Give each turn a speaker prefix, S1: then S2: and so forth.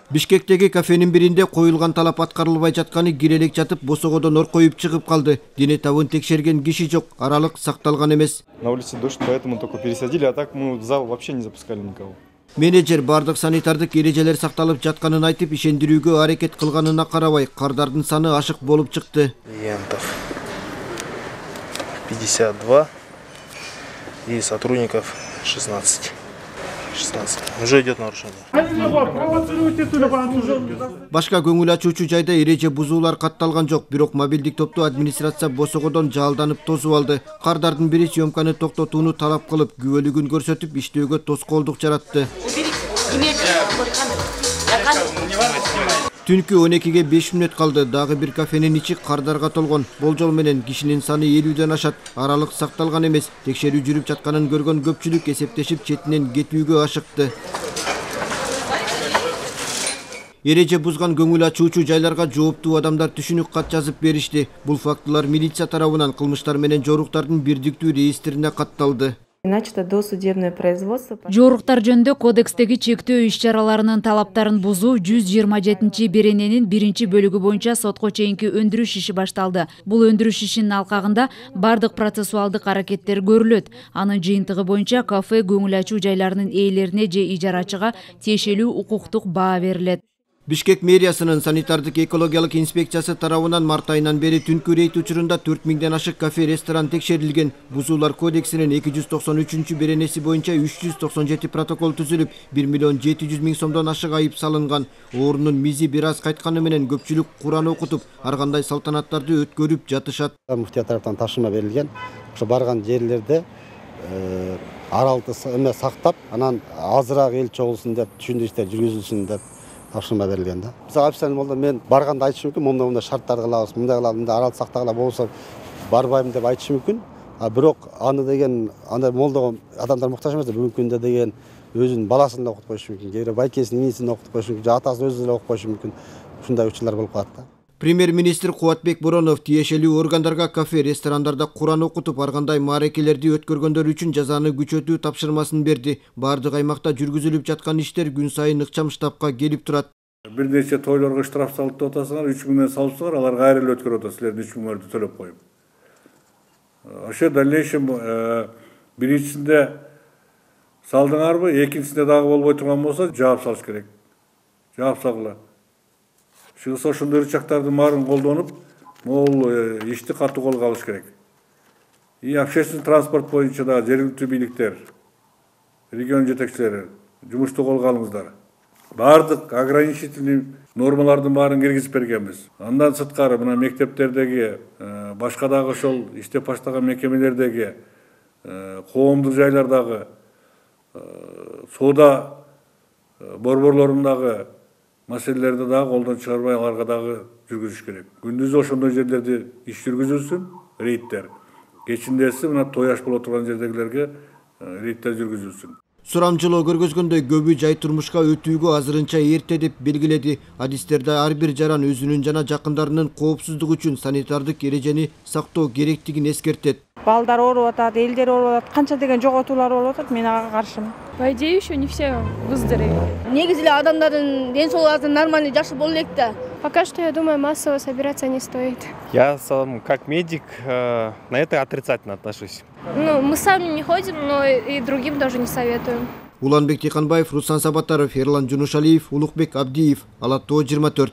S1: Бишкектеги кафенин биринде коюлган талап аткарылбай жатканы кирелек жатып босогодон оркоюп чыгып калды. Дене табын текшерген киши жок, аралык сакталган эмес.
S2: На улице дождь, поэтому только пересадили, а так мы в зал вообще не запускали никого.
S1: Менеджер бардык санитардык ережелер сакталып жатканын айтып, ишендирүүгө аракет кылганына карабай, кардардын саны ашык болуп чыкты.
S3: Клиентов 52 и сотрудников 16. Уже идет нарушение.
S1: Башка көңүл ачуучу жайда эреже бузуулар катталган жок, бирок мобилдик топту администрация босогодон жалданып тосуп алды. Кардардын бири съемканы токтотууну талап кылып, күбөлүгүн көрсөтүп, иштөөгө тоскоолдук жаратты. Түнкү 12-ге 5 мүнөт калды. Дагы бир кафенин ичи кардарга толгон. Болжол менен кишинин саны 50ден ашат. Аралык сакталган эмес. Текшерүү жүрүп жатканын көргөн көпчүлүк эсептешип четинен кетүүгө ашыкты. Эреже бузган көңүл ачуучу жайларга жооптуу адамдар түшүнүк кат жазып беришти. Бул фактылар милиция тарабынан кылмыштар менен жоруктардын бирдиктүү реестрине катталды.
S4: Начато досудебное производство.
S5: Жоруктар жөнүндө кодекстеги чектөө иш-чараларынын талаптарын бузуу 127-берененин 1-бөлүгү боюнча сотко чейинки өндүрүш иши башталды. Бул өндүрүш ишинин алкагында бардык процессуалдык аракеттер көрүлөт. Анын жыйынтыгы боюнча кафе көңүл ачуу жайларынын ээлерине же ижарачыга тиешелүү укуктук баа берилет.
S1: Бишкек мэриясынын санитардык экологиялык инспекциясы тарабынан март айынан бери түнкү рейд учурунда 4000ден ашык кафе, ресторан текшерилген. Бузуулар кодексинин 293-беренеси боюнча 397 протокол түзүлүп, 1,7 миллион сомдон ашык айып салынган. Оорунун мизи бир аз кайтканы менен көпчүлүк Куран окутуп, ар кандай салтанаттарды өткөрүп жатышат.
S6: Муфтия тараптан тапшырма берилген. Ошо барган жерлерде аралыкты сактап, анан азыраак эл чогулсун деп, түшүндүрүштөр жүргүзүлсүн деп тапшырма берилген да. Биз официально болду, мен барганда айтышым мүмкүн, мындай шарттар кылабыз, мындай кылабыз, мындай аралык сактагыла болсо барбайм деп айтышым мүмкүн. Бирок аны деген андай молдого адамдар муктаж эмес, бүгүнкү күндө деген өзүнүн баласын да окутуп коюшу мүмкүн, кээ бир байкесин, инисин окутуп коюшу мүмкүн, же атасын өзү эле окуп коюшу мүмкүн. Ушундай учурлар болуп калат да.
S1: Премьер-министр Кубатбек Боронов тиешелүү органдарга кафе, ресторандарда Куран окутуп, ар кандай маарекелерди өткөргөндөр үчүн жазаны күчөтүү тапшырмасын берди. Бардык аймакта жүргүзүлүп жаткан иштер күн сайын ыкчам штабка келип турат.
S7: Бир нече тойлорго штраф салып деп атасыңар, 3000ден салыпсыңар, алар кайра эле өткөрүп атат, силердин 3000 төлөп коюп. Ошо дальнейшем биринчисинде салдыңарбы, экинчисинде дагы болбой турган болсо жаап салыш керек. Жаап салгыла. Чыгса ошондой ырчактардын баарын колдонуп, могул ишти катуу колго алыш керек. И общественный транспорт боюнча да жергиликтүү бийликтер, регион жетекчилери жумушту колго алыңыздар. Бардык ограничительный нормалардын баарын киргизип бергенбиз. Андан сырткары мына мектептердеги, башка дагы ошол иштеп баштаган мекемелердеги, коомдук жайлардагы, соода борборлорундагы маселелерди дагы колдон чыгарбай, аларга дагы жүргүзүш керек. Күндүзү ошондой жерлерде иш жүргүзүлсүн, рейдтер. Кечиндеси мына тояш боло турган жердегилерге рейдтер жүргүзүлсүн.
S1: Сурамчылоо көргөзгөндөй көбү жай турмушка өтүүгө азырынча эрте деп белгиледи. Адистерде ар бир жаран өзүнүн жана жакындарынын коопсуздугу үчүн санитардык эрежени сактоо керектигин эскертет.
S4: Балдар ооруп атат, элдер ооруп атат, канча деген жоготуулар болуп атат, мен ага каршымын.
S8: По идее, еще не все выздоровели.
S9: Негизи эле адамдардын ден соолугу нормально жакшы боло элек да.
S8: Пока что, я думаю, массово собираться не стоит.
S10: Я сам, как медик, на это отрицательно отношусь.
S8: Ну, мы сами не ходим, но и другим тоже не советуем.
S1: Уланбек Тиханбаев, Руслан Сабатаров, Ерлан Жунушалиев, Улукбек Абдиев, Ала Тоо 24.